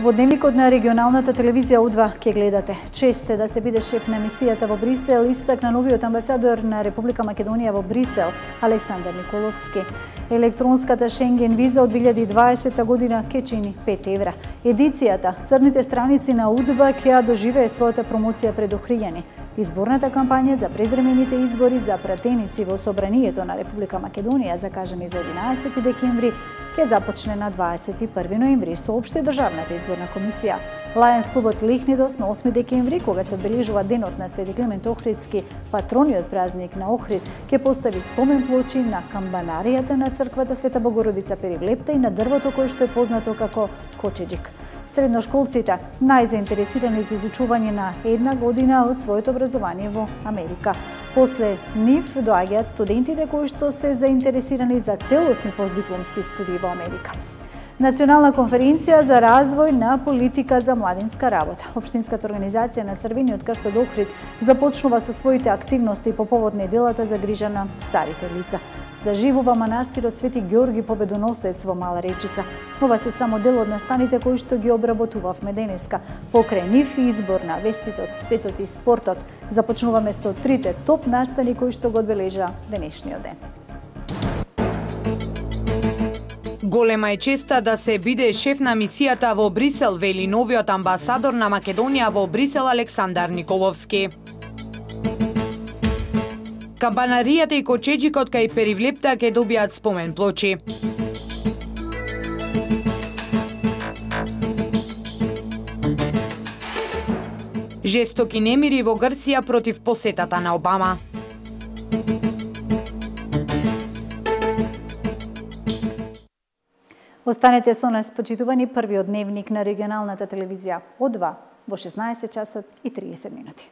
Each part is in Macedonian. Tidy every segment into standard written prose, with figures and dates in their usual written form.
Во дневникот на регионалната телевизија Удва ќе гледате. Чест е да се биде шеф на мисијата во Брисел, истакна новиот амбасадор на Република Македонија во Брисел, Александар Николовски. Електронската Шенген виза од 2020 година ќе чини 5 евра. Едицијата Црните страници на Удва ќе ја доживее својата промоција пред охријани. Изборната кампања за предвремените избори за пратеници во Собранието на Република Македонија, закажани за 11 декември, ќе започне на 21 ноември, соопшти Државната изборна комисија. Лајонс клубот Лихнидос на 8 декември, кога се одбележува денот на Свети Климент Охридски, патрониот празник на Охрид, ќе постави спомен плочи на камбанаријата на црквата Света Богородица Перивлепта и на дрвото кое што е познато како кочеџик. Средношколците најзаинтересирани за изучување на една година од своето образование во Америка. После нив доаѓаат студентите кои што се заинтересирани за целосни постдипломски студии во Америка. Национална конференција за развој на политика за младинска работа. Општинската организација на Црвениот крст од Охрид започнува со своите активности по повод неделата за грижа на старите лица. Заживува манастирот Свети Ѓорги Победоносец во Мала Речица. Ова се само дел од настаните кои што ги обработувавме денеска. Покрај нив и избор на веститот, светот и спортот. Започнуваме со трите топ настани кои што го одбележа денешниот ден. Голема е честа да се биде шеф на мисијата во Брисел, вели новиот амбасадор на Македонија во Брисел Александар Николовски. Камбанаријата и кочеџикот кај Перивлепта ќе добијат спомен плочи. Жестоки немири во Грција против посетата на Обама. Останете со нас, почитувани, првиот дневник на регионалната телевизија Одва во 16 часот и 30 минути.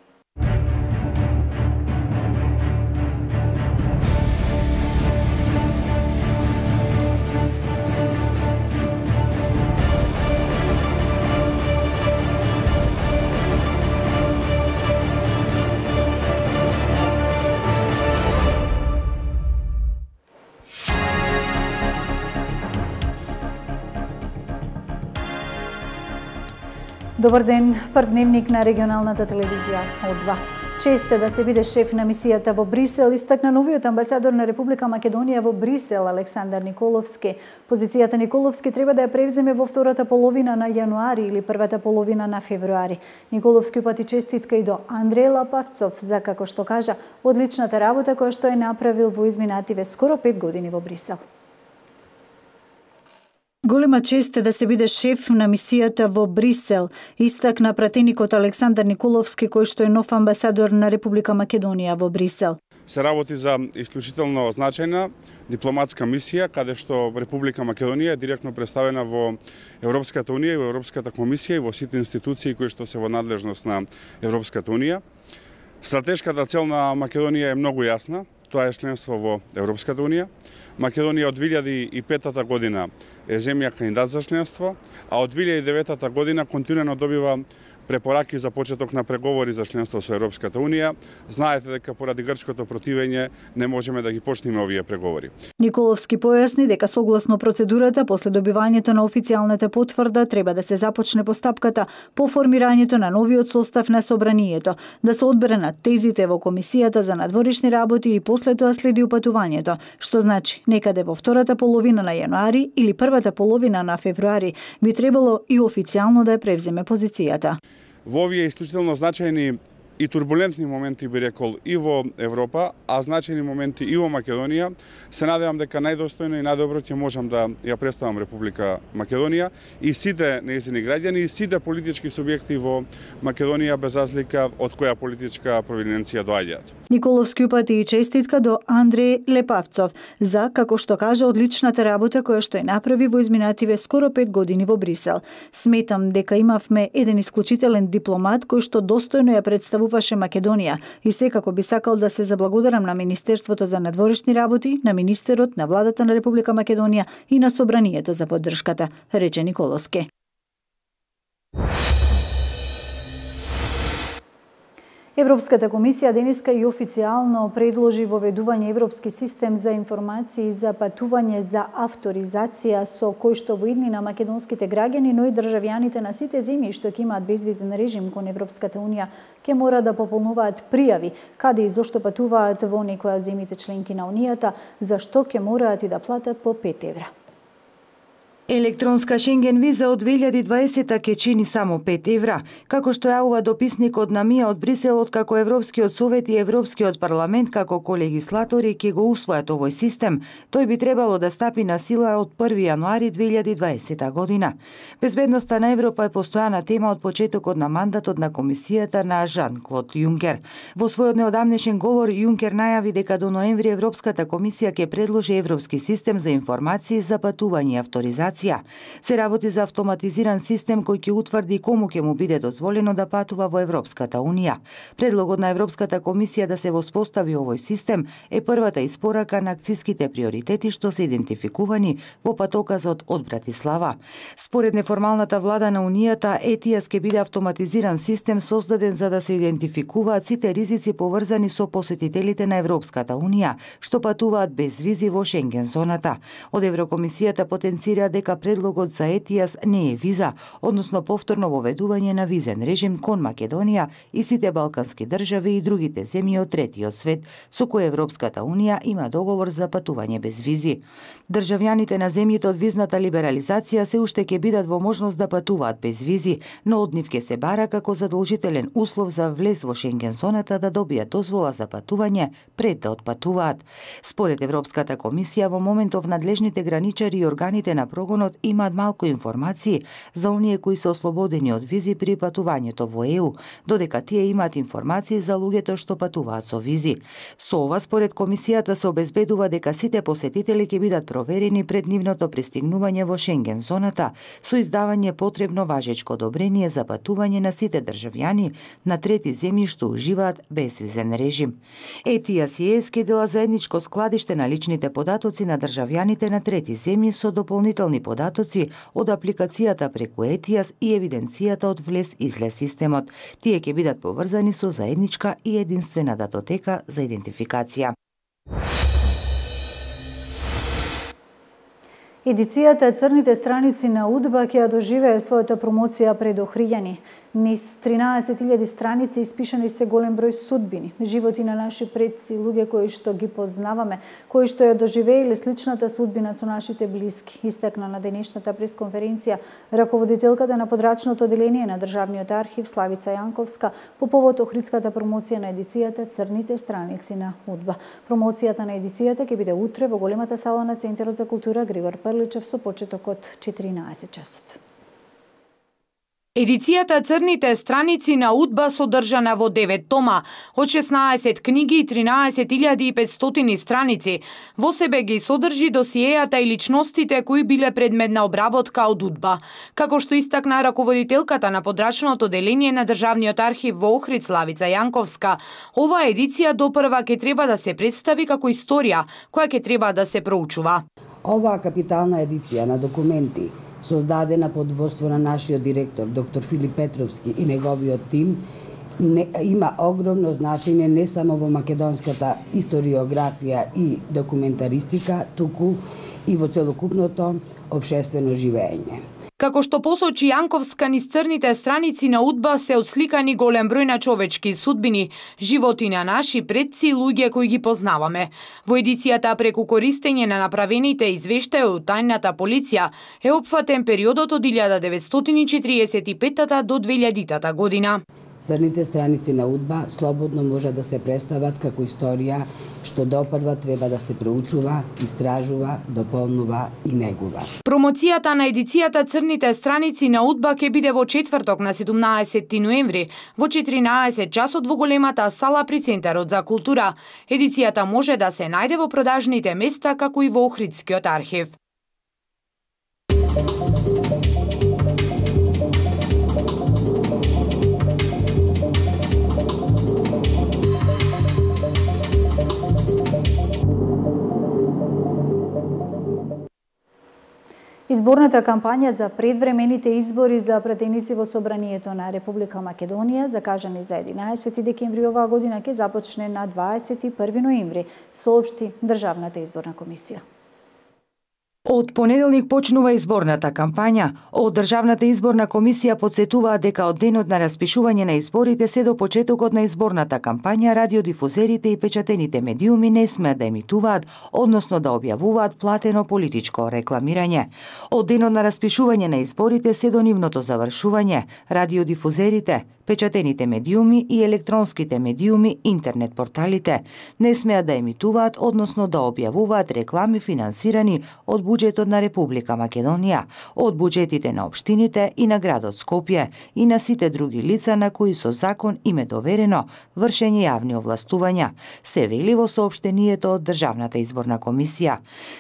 Добар ден, прв дневник на регионалната телевизија Одва. Чест е да се биде шеф на мисијата во Брисел, истакна новиот амбасадор на Република Македонија во Брисел, Александар Николовски. Позицијата Николовски треба да ја превземе во втората половина на јануари или првата половина на февруари. Николовски упати честитка и до Андреј Лапавцов за, како што кажа, одличната работа која што е направил во изминативе скоро 5 години во Брисел. Голема чест е да се биде шеф на мисијата во Брисел, истакна пратеникот Александар Николовски, кој што е нов амбасадор на Република Македонија во Брисел. Се работи за исклучително значајна дипломатска мисија, каде што Република Македонија е директно представена во Европската Унија и во Европската комисија и во сите институции кои што се во надлежност на Европската Унија. Стратешката цел на Македонија е многу јасна. Тоа е членство во Европската Унија. Македонија од 2005 година е земја кандидат за членство, а од 2009 година континуирано добива препораки за почеток на преговори за членство со Европската Унија. Знаете дека поради грчкото противење не можеме да ги почнеме овие преговори. Николовски појасни дека согласно процедурата после добивањето на официјалната потврда треба да се започне постапката по формирањето на новиот состав на Собранието, да се одберат тезите во Комисијата за надворешни работи и после тоа следи упатувањето, што значи некаде во втората половина на јануари или првата половина на февруари би требало и официјално да ја превземе позицијата. Во овие исклучително значајни и турбулентни моменти, би рекол, и во Европа, а значајни моменти и во Македонија, се надевам дека најдостојно и најдобро ќе можам да ја представам Република Македонија и сите нејзини граѓани и сите политички субјекти во Македонија без разлика од која политичка провиненција доаѓаат. Николовски упати и честитка до Андреј Лепавцов за, како што кажа, одличната работа која што е направи во изминативе скоро 5 години во Брисел. Сметам дека имавме еден исклучителен дипломат кој што достојно ја представуваше Македонија и секако би сакал да се заблагодарам на Министерството за надворешни работи, на министерот, на владата на Република Македонија и на Собранието за поддршката, рече Николовски. Европската комисија денеска и официјално предложи воведување европски систем за информации за патување за авторизација со кој што во иднина македонските граѓани, но и државјаните на сите земји што ќе имаат безвизен режим кон Европската унија ќе мора да пополнуваат пријави каде и зошто патуваат во некоја од земјите членки на унијата, за што ќе мораат и да платат по 5 евра. Електронска Шенген виза од 2020 ќе чини само 5 евра, како што јавува дописникот на МИА од Брисел, откако Европскиот совет и Европскиот парламент како колегислатори ќе го усвојат овој систем. Тој би требало да стапи на сила од 1 јануари 2020 година. Безбедноста на Европа е постојана тема од почетокот на мандатот на комисијата на Жан-Клод Јункер. Во својот неодамнешен говор Јункер најави дека до ноември Европската комисија ќе предложи европски систем за информации за патување и авторизација. Се работи за автоматизиран систем кој ќе утврди кому ќе му биде дозволено да патува во Европската унија. Предлогот на Европската комисија да се воспостави овој систем е првата испорака на акциските приоритети што се идентификувани во патоказот од Братислава. Според неформалната влада на унијата, ETIAS ќе биде автоматизиран систем создаден за да се идентификуваат сите ризици поврзани со посетителите на Европската унија што патуваат без визи во Шенген зоната. Од Еврокомисијата потенцира дека предлогот за ETIAS не е виза, односно повторно воведување на визен режим кон Македонија и сите балкански држави и другите земји од третиот свет со кои Европската унија има договор за патување без визи. Државјаните на земјите од визната либерализација се уште ќе бидат во можност да патуваат без визи, но од нив ќе се бара како задолжителен услов за влез во Шенген зоната да добијат дозвола за патување пред да отпатуваат. Според Европската комисија, во моментов надлежните граничари и органите на прогонот имаат малку информации за оние кои се ослободени од визи при патувањето во ЕУ, додека тие имаат информации за луѓето што патуваат со визи. Со ова, според комисијата, се обезбедува дека сите посетители ќе бидат проверени пред нивното пристигнување во Шенген зоната со издавање потребно важечко одобрение за патување на сите државјани на трети земји што уживаат безвизен режим. ETIAS и ЕС ќе дела заедничко складиште на личните податоци на државјаните на трети земји со дополнителни податоци од апликацијата преку ETIAS и евиденцијата од влез-излез системот. Тие ќе бидат поврзани со заедничка и единствена датотека за идентификација. Едицијата Црните страници на УДБА ќе ја доживее својата промоција пред охријани. Низ 13.000 страници испишани се голем број судбини, животи на наши предци, луѓе кои што ги познаваме, кои што ја доживееле сличната судбина со нашите блиски, истакна на денешната пресконференција раководителката на подрачното оделение на Државниот архив Славица Јанковска по повод охридската промоција на едицијата Црните страници на УДБА. Промоцијата на едицијата ќе биде утре во големата сала на Центарот за култура Григор Прличев со почеток од 14 часот. Едицијата Црните страници на УДБА содржана во 9 тома, од 16 книги и 13.500 страници. Во себе ги содржи досиејата и личностите кои биле предмет на обработка од УДБА. Како што истакна раководителката на подрачното оделение на Државниот архив во Охрид Славица Јанковска, оваа едиција допрва ќе треба да се представи како историја, која ќе треба да се проучува. Оваа капитална едиција на документи создадена под водство на нашиот директор, доктор Филип Петровски и неговиот тим, има огромно значење не само во македонската историографија и документаристика, туку и во целокупното општествено живење. Како што посочи Јанковска, низ црните страници на УДБА се отсликани голем број на човечки судбини, животи на наши предци и луѓе кои ги познаваме. Во едицијата преку користење на направените извештаи од тајната полиција е опфатен периодот од 1945 до 2000 година. Црните страници на УДБА слободно може да се представат како историја што допрва треба да се проучува, истражува, дополнува и негува. Промоцијата на едицијата Црните страници на УДБА ќе биде во четврток на 17 ноември во 14 часот во големата сала при Центарот за култура. Едицијата може да се најде во продажните места како и во Охридскиот архив. Изборната кампања за предвремените избори за пратеници во Собранието на Република Македонија, закажани за 11 декември оваа година, ќе започне на 21 ноември, соопшти Државната изборна комисија. Од понеделник почнува изборната кампања. Од Државната изборна комисија подсетуваат дека од денот на распишување на изборите се до почетокот на изборната кампања радиодифузерите и печатените медиуми не смеат да емитуваат, односно да објавуваат платено политичко рекламирање. Од денот на распишување на изборите се до нивното завршување радиодифузерите, печатените медиуми и електронските медиуми, интернет порталите не смеат да емитуваат, односно да објавуваат реклами финансирани од буџетот на Република Македонија, од буџетите на општините и на градот Скопје и на сите други лица на кои со закон им е доверено вршење јавни овластувања, се вели во соопштението од Државната изборна комисија.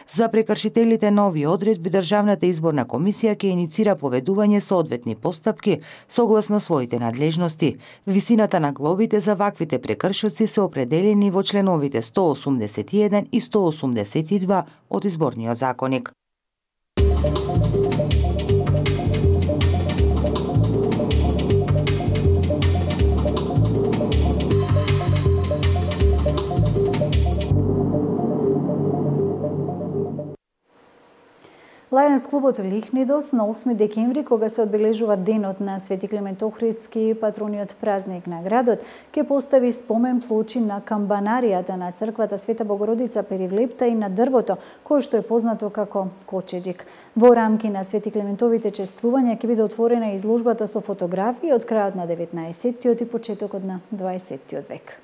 За прекршителите на овие одредби Државната изборна комисија ќе иницира поведување соодветни постапки согласно своите надлежности. Висината на глобите за ваквите прекршоци се определени во членовите 181 и 182 од Изборниот законник. Лајонс клубот Лихнидос на 8 декември, кога се одбележува денот на Свети Климент Охридски, патрониот празник на градот, ќе постави спомен плочи на камбанаријата на црквата Света Богородица Перивлепта и на дрвото, кое што е познато како кочеџик. Во рамки на Свети Климентовите чествувања ќе биде отворена изложбата со фотографии од крајот на 19-тиот и почетокот на 20-тиот век.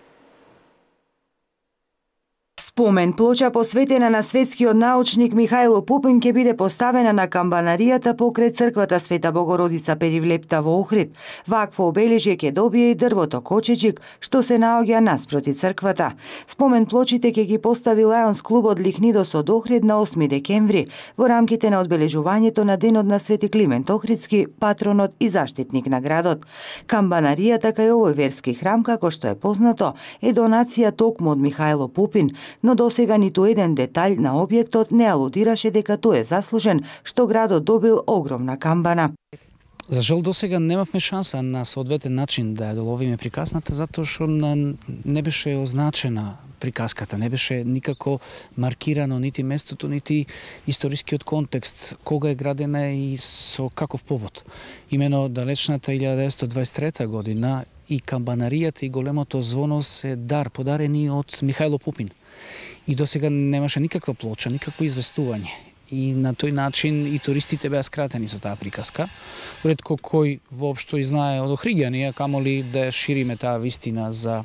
Спомен плоча посветена на светскиот научник Михајло Пупин ќе биде поставена на камбанаријата покрај црквата Света Богородица Перивлепта во Охрид. Вакво обележје ќе добие и дрвото кочеџик, што се наоѓа наспроти црквата. Спомен плочите ќе ги постави Лајонс клубот Лихнидос од Охрид на 8 декември во рамките на одбележувањето на денот на Свети Климент Охридски, патронот и заштитник на градот. Камбанаријата кај овој верски храм, како што е познато, е донација токму од Михајло Пупин, но досега ниту еден детаљ на објектот не алудираше дека тој е заслужен што градот добил огромна камбана. За жал досега немавме шанса на соодветен начин да ја доловиме приказната, затоа што не беше означена приказката, не беше никако маркирано нити местото, нити историскиот контекст, кога е градена и со каков повод. Имено далечната 1923 година и камбанаријата и големото звоно се подарени од Михајло Пупин. И досега немаше никаква плоча, никакво известување. И на тој начин и туристите беа скратени со таа приказка. Ретко кој воопшто и знае од охриѓани, камоли да шириме таа вистина за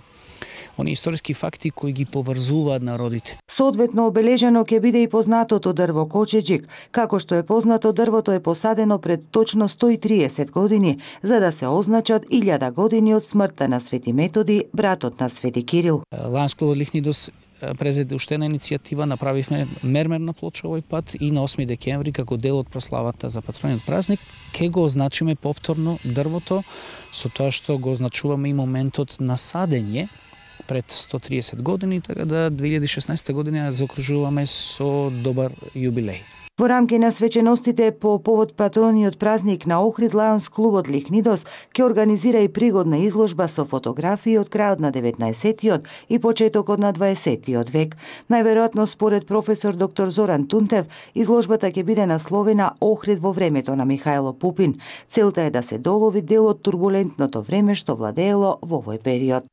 они историски факти кои ги поврзуваат народите. Соодветно обележено ќе биде и познатото дрво кочеџик. Како што е познато, дрвото е посадено пред точно 130 години, за да се означат 1000 години од смртта на Свети Методи, братот на Свети Кирил. Лајонс клубот Лихнидос презеде уште една иницијатива, направивме мермерна плоча овој пат и на 8 декември како дел од прославата за патрониот празник ќе го означиме повторно дрвото, со тоа што го означуваме и моментот на садење пред 130 години, така да 2016 година заокружуваме со добар јубилеј. Во рамки на свеченостите по повод патрониот празник на Охрид, Лајонс клубот Лихнидос ќе организира и пригодна изложба со фотографии од крајот на 19-тиот и почетокот на 20-тиот век. Најверојатно, според професор доктор Зоран Тунтев, изложбата ќе биде насловена Охрид во времето на Михајло Пупин. Целта е да се долови дел од турбулентното време што владеело во овој период.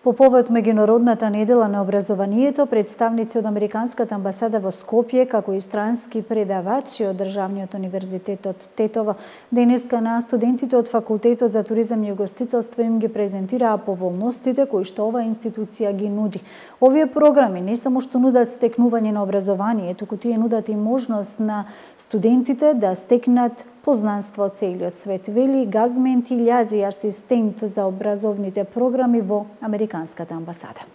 По повод меѓународната недела на образованието, представници од Американската амбасада во Скопје, како и странски предавачи од Државниот универзитет од Тетово, денеска на студентите од Факултетот за туризам и угостителство им ги презентираа поволностите кои што оваа институција ги нуди. Овие програми не само што нудат стекнување на образование, туку тие нудат и можност на студентите да стекнат познанство од целиот свет, вели Газмент Илјази, асистент за образовните програми во Американската амбасада.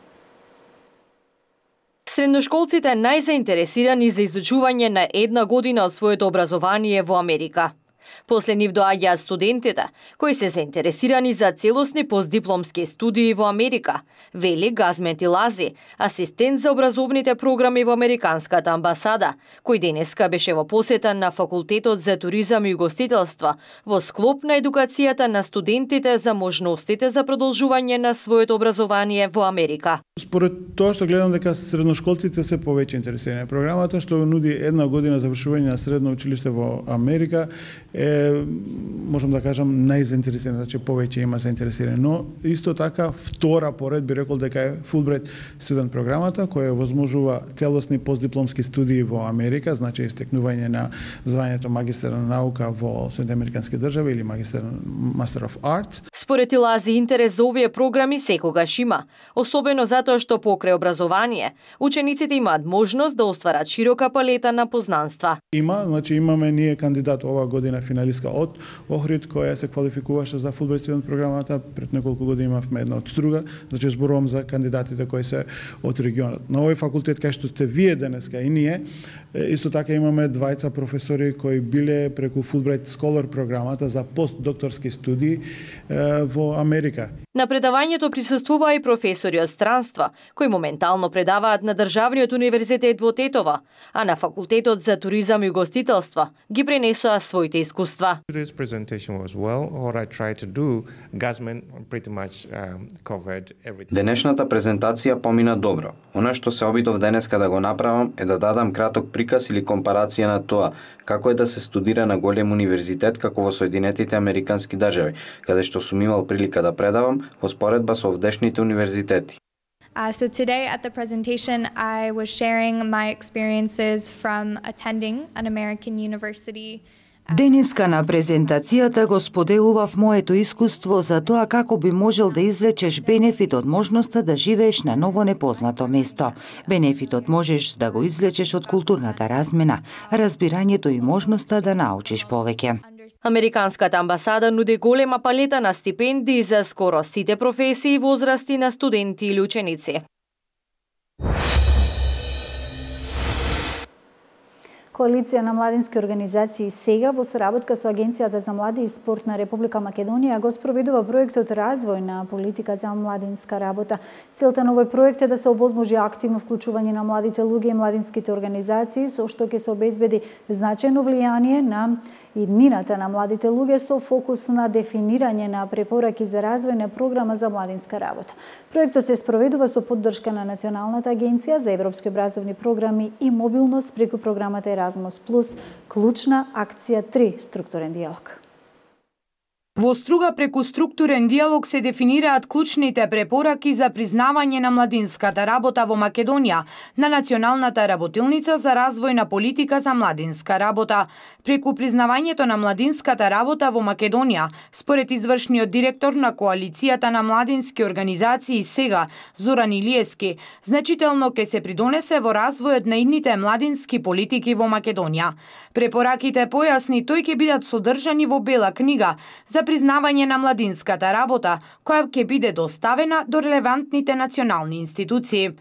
Средношколците најзаинтересирани за изучување на една година од своето образование во Америка. После нив доаѓаат студентите, кои се заинтересирани за целосни постдипломски студии во Америка, вели Газмен Тилази, асистент за образовните програми во Американската амбасада, кој денеска беше во посета на Факултетот за туризам и угостителство во склоп на едукацијата на студентите за можностите за продолжување на своето образование во Америка. Според тоа што гледам дека средношколците се повеќе интересирани. Програмата што нуди една година завршување на средно училиште во Америка е, можам да кажам, најзаинтересиран, значи повеќе има заинтересирани. Но исто така втора поред би рекол дека е Fulbright студент програмата која возможува целосни постдипломски студии во Америка, значи истекнување на звањето магистер на наука во Соединените американски држави или Master of Arts. Според Илази, интерес за овие програми секогаш има, особено затоа што покрај образование, учениците имаат можност да остварат широка палета на познанства. Значи имаме ние кандидат оваа година финалистка од Охрид која се квалификуваше за Fulbright студент програмата, пред неколку години имавме една од Струга, значи зборувам за кандидатите кои се од регионот. На овој факултет кај што сте вие денеска и ние, исто така имаме двајца професори кои биле преку Fulbright Scholar програмата за постдокторски студии во Америка. На предавањето присуствуваа и професори од странства, кои моментално предаваат на Државниот универзитет во Тетово, а на Факултетот за туризам и угостителство ги пренесоа своите искуства. Денешната презентација помина добро. Она што се обидов денеска да го направам е да дадам краток приказ или компарација на тоа како е да се студира на голем универзитет како во Соединетите американски држави, каде што сум имал прилика да предавам во споредба со овдешните универзитети. So today at the presentation I was sharing my experiences from attending an American university. Денеска на презентацијата го споделував моето искуство за тоа како би можел да извлечеш бенефит од можноста да живееш на ново непознато место. Бенефитот можеш да го извлечеш од културната размена, разбирањето и можноста да научиш повеќе. Американската амбасада нуди голема палета на стипендии за скоро сите професии и возрасти на студенти или ученици. Коалиција на младински организации сега во соработка со Агенцијата за млади и спорт на Република Македонија го спроведува проектот Развој на политика за младинска работа. Целта на овој проект е да се овозможи активно вклучување на младите луѓе и младинските организации, со што ќе се обезбеди значајно влијание на иднината на младите луѓе со фокус на дефинирање на препораки за развој на програма за младинска работа. Проектот се спроведува со поддршка на Националната агенција за европски образовни програми и мобилност преку програмата Erasmus Plus, клучна акција 3, структурен диалог. Во Струга преку структурен диалог се дефинираат клучните препораки за признавање на младинската работа во Македонија на Националната работилница за развојна политика за младинска работа. Преку признавањето на младинската работа во Македонија, според извршниот директор на Коалицијата на младински организации сега, Зоран Илиевски, значително ќе се придонесе во развојот на идните младински политики во Македонија. Препораките, појасни тој, ќе бидат содржани во Бела книга за признавање на младинската работа, која ќе биде доставена до релевантните национални институции.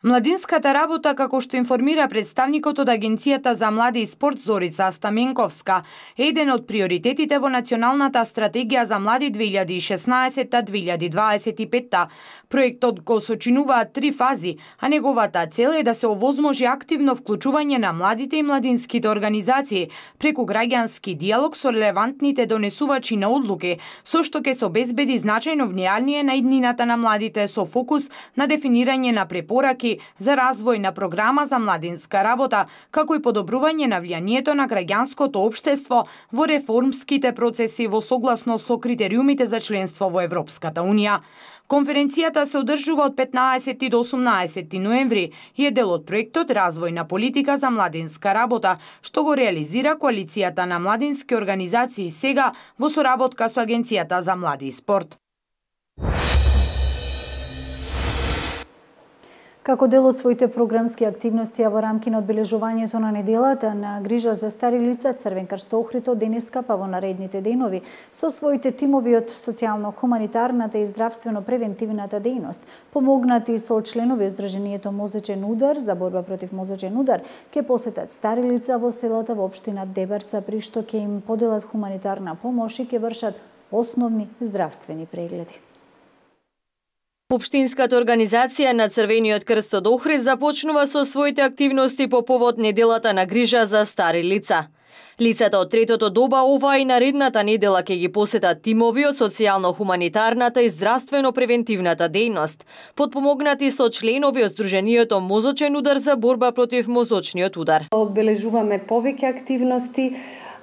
Младинската работа, како што информира представникот од Агенцијата за млади и спорт Зорица Стаменковска, е еден од приоритетите во Националната стратегија за млади 2016-2025. Проектот го сочинуваат 3 фази, а неговата цел е да се овозможи активно вклучување на младите и младинските организации преку граѓански диалог со релевантните донесувачи на одлуки, со што ќе се обезбеди значајно влијание на иднината на младите со фокус на дефинирање на препораки за развој на програма за младинска работа, како и подобрување на влијанието на граѓанското општество во реформските процеси во согласно со критериумите за членство во Европската Унија. Конференцијата се одржува од 15 до 18 ноември и е дел од проектот Развојна политика за младинска работа, што го реализира Коалицијата на младински организации сега во соработка со Агенцијата за млади и спорт. Како дел од своите програмски активности, а во рамки на одбележувањето на неделата на грижа за стари лица, Црвен крст Охрид од денеска па во наредните денови со своите тимови од социјално-хуманитарната и здравствено-превентивната дејност, помогнати со членови од Здруженијето Мозочен удар за борба против мозочен удар, ќе посетат стари лица во селата во општина Дебарца, при што ќе им поделат хуманитарна помош и ќе вршат основни здравствени прегледи. Општинската организација на Црвениот крст од Охрид започнува со своите активности по повод неделата на грижа за стари лица. Лицата од третото доба оваа и наредната недела ќе ги посетат тимови од социјално-хуманитарната и здравствено-превентивната дејност, подпомогнати со членови од Здруженијето Мозочен удар за борба против мозочниот удар. Одбележуваме повеќе активности,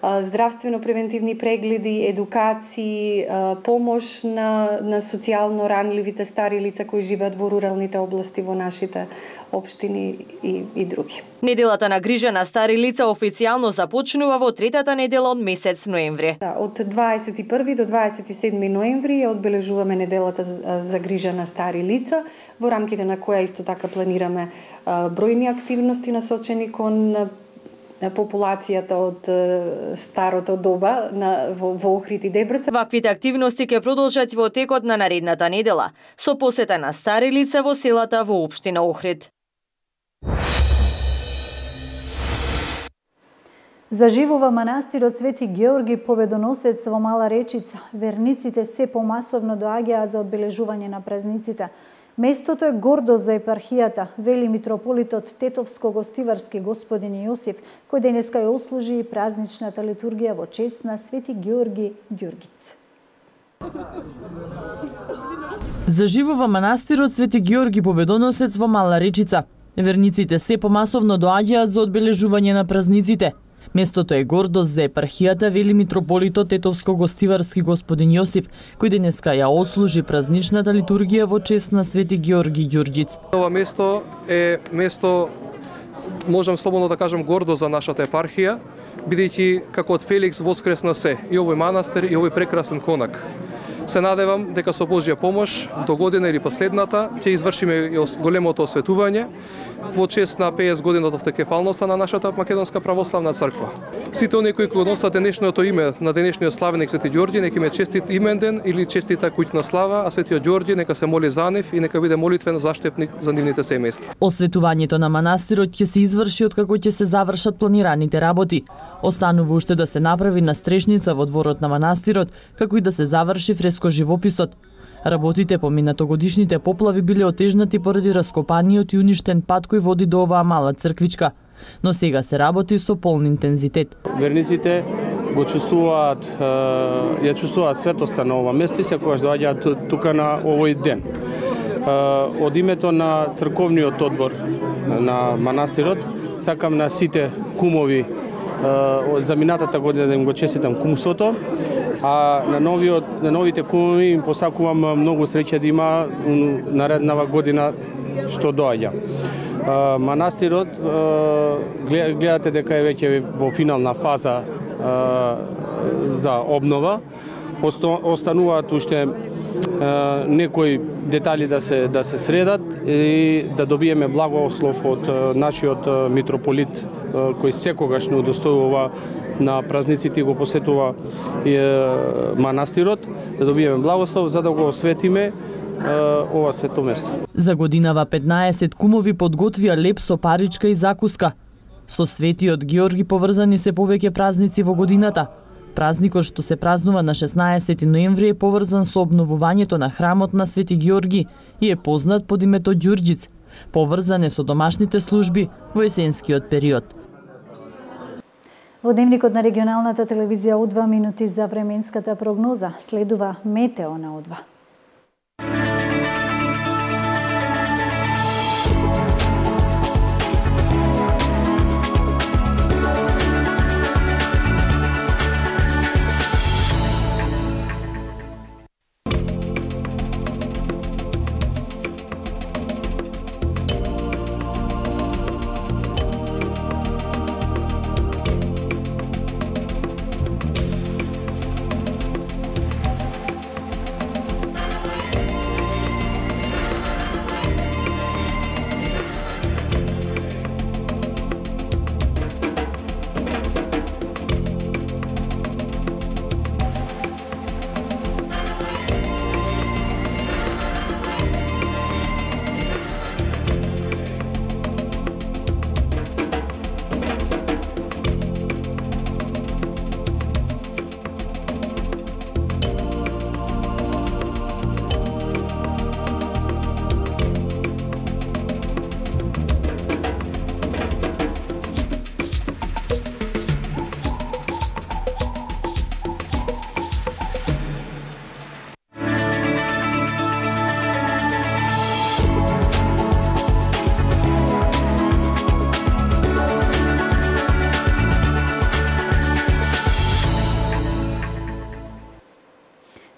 здравствено-превентивни прегледи, едукации, помош на социјално ранливите стари лица кои живеат во руралните области во нашите општини и други. Неделата на грижа на стари лица официјално започнува во третата недела од месец ноември. Од 21 до 27 ноември ја одбележуваме неделата за грижа на стари лица, во рамките на која исто така планираме бројни активности насочени кон популацијата од старото доба во Охрид и Дебрца. Ваквите активности ќе продолжат во текот на наредната недела, со посета на стари лица во селата во општина Охрид. Заживува манастирот Свети Георги Победоносец во Мала Речица. Верниците се помасовно доаѓаат за одбележување на празниците. Местото е гордост за епархијата, вели митрополитот Тетовско-Гостиварски господин Јосиф, кој денеска ја ослужи и празничната литургија во чест на Свети Георги Ѓургиц. Заживува манастирот Свети Георги Победоносец во Мала Речица. Верниците се помасовно доаѓаат за одбележување на празниците. Местото е гордост за епархијата, вели митрополитот Тетовско-Гостиварски господин Јосиф, кој денеска ја отслужи празничната литургија во чест на Свети Георги Ѓурѓиц. Ова место е место, можам слободно да кажам, гордост за нашата епархија, бидејќи како од Феликс воскресна се и овој манастир и овој прекрасен конак. Се надевам дека со Божја помош до година или последната ќе извршиме големото осветување во чест на 50 години од автокефалноста на нашата Македонска православна црква. Сите оние кои го носат денешното име на денешниот славеник Свети Ѓорѓи, нека име честит именден или честита куќна слава, а Светиот Ѓорѓи нека се моли за нив и нека биде молитвен заштепник за нивните семејства. Осветувањето на манастирот ќе се изврши откако ќе се завршат планираните работи. Останува уште да се направи настрешница во дворот на манастирот, како и да се заврши фреско живописот. Работите по минатогодишните поплави биле отежнати поради раскопаниот и уништен пат кој води до оваа мала црквичка, но сега се работи со полн интензитет. Верниците го чувствуваат, ја чувствуваат светоста на ова место и секогаш доаѓаат тука на овој ден. Од името на црковниот одбор на манастирот, сакам на сите кумови за минатата година да им го честитам кумството, а на новите кумови им посакувам многу среќа да има нареднава година што доаѓа. Манастирот гледате дека е веќе во финална фаза за обнова. Остануваат уште некои детали да се средат и да добиеме благослов од нашиот митрополит кој секогаш не удостојува на празниците и го посетува манастирот, да добиеме благослов за да го осветиме ова свето место. За годинава 15 кумови подготвија леп со паричка и закуска. Со Светиот Георги поврзани се повеќе празници во годината. Празникот што се празнува на 16 ноември е поврзан со обновувањето на храмот на Свети Георги и е познат под името Ѓурѓиц. Поврзан е со домашните служби во есенскиот период. Во дневникот на регионалната телевизија У2 минути за временската прогноза. Следува метео на У2.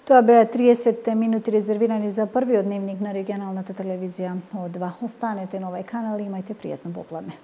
Тоа беа 30 минути резервирани за првиот дневник на регионалната телевизија О2. Останете на овај канал и имајте пријатно попладне.